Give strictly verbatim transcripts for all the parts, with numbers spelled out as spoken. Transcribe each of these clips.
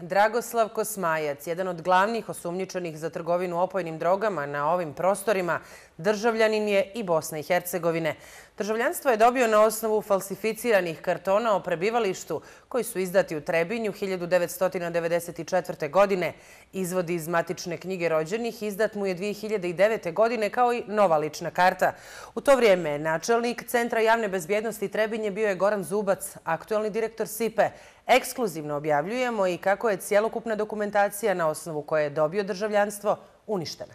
Dragoslav Kosmajac, jedan od glavnih osumnjičenih za trgovinu opojnim drogama na ovim prostorima, državljanin je i Bosne i Hercegovine. Državljanstvo je dobio na osnovu falsificiranih kartona o prebivalištu koji su izdati u Trebinju hiljadu devetsto devedeset četvrte. godine. Izvod iz matične knjige rođenih izdat mu je dvije hiljade devete. godine kao i nova lična karta. U to vrijeme načelnik Centra javne bezbjednosti Trebinje bio je Goran Zubac, aktuelni direktor S I P E. Ekskluzivno objavljujemo i kako je cjelokupna dokumentacija na osnovu koje je dobio državljanstvo uništena.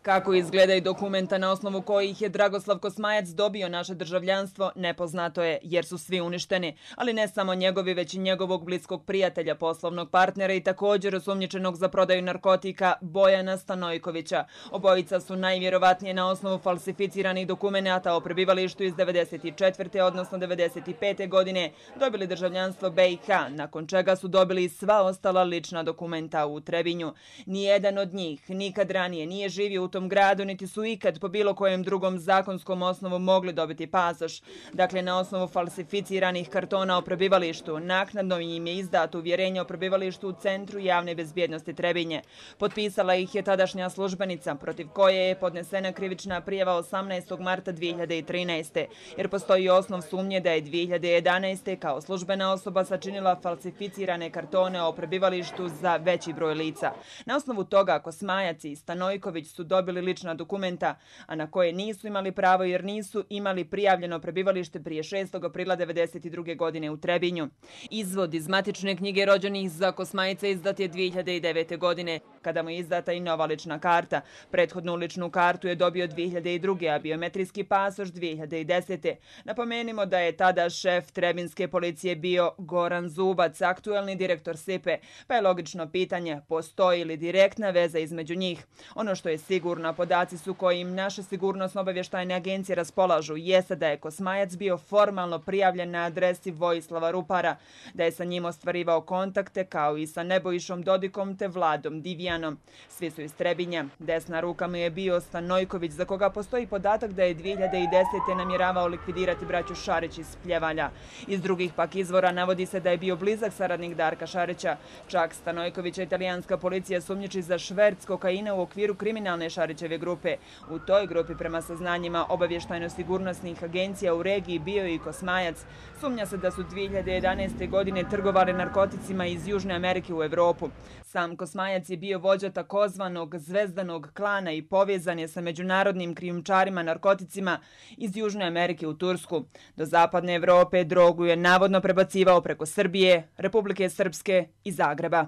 Kako izgledaju dokumenta na osnovu kojih je Dragoslav Kosmajac dobio naše državljanstvo, nepoznato je jer su svi uništeni, ali ne samo njegovi, već i njegovog bliskog prijatelja, poslovnog partnera i također osumnjičenog za prodaju narkotika Bojana Stanojkovića. Obojica su najvjerovatnije na osnovu falsificiranih dokumenata o prebivalištu iz devedeset četvrte. odnosno devedeset pete. godine dobili državljanstvo B i H, nakon čega su dobili sva ostala lična dokumenta u Trebinju. Nijedan od njih nikad ranije nije živio u tom gradu, niti su ikad po bilo kojem drugom zakonskom osnovu mogli dobiti pasoš. Dakle, na osnovu falsificiranih kartona o prebivalištu, naknadno im je izdato uvjerenje o prebivalištu u Centru javne bezbjednosti Trebinje. Potpisala ih je tadašnja službenica, protiv koje je podnesena krivična prijava osamnaestog marta dvije hiljade trinaeste. jer postoji osnov sumnje da je dvije hiljade jedanaeste. kao službena osoba sačinila falsificirane kartone o prebivalištu za veći broj lica. Na osnovu toga Kosmajac i Stanojković su dobili lična dokumenta, a na koje nisu imali pravo jer nisu imali prijavljeno prebivalište prije šestog aprila devedeset druge. godine u Trebinju. Izvod iz matične knjige rođenih za Kosmajca izdat je dvije hiljade devete. godine, kada mu je izdata i nova lična karta. Prethodnu ličnu kartu je dobio dvije hiljade druge. a biometrijski pasoš dvije hiljade desete. Napomenimo da je tada šef trebinske policije bio Goran Zubac, aktuelni direktor S I P E, pa je logično pitanje postoji li direktna veza između njih. Ono što je sigurno, podaci su kojim naše sigurnosno-obavještajne agencije raspolažu, jeste da je Kosmajac bio formalno prijavljen na adresi Vojislava Rupara, da je sa njim ostvarivao kontakte kao i sa Nebojšom Dodikom te Vladom Divijanom. Svi su iz Trebinja. Desna ruka mu je bio Stanojković, za koga postoji podatak da je dvije hiljade desete. namjeravao likvidirati braću Šarić iz Pljevalja. Iz drugih pak izvora navodi se da je bio blizak saradnik Darka Šarića. Čak Stanojkovića italijanska policija sumnjiči za šverc kokaina u okviru kriminalne Šarićeve grupe. U toj grupi, prema saznanjima obavještajno-sigurnosnih agencija u regiji, bio i Kosmajac. Sumnja se da su dvije hiljade jedanaeste. godine trgovali narkoticima iz Južne Amerike u Evropu. Sam Kosmajac je bio vođa takozvanog zvezdanog klana i povezan je sa međunarodnim krijumčarima narkoticima iz Južne Amerike u Tursku. Do zapadne Evrope drogu je navodno prebacivao preko Srbije, Republike Srpske i Zagreba.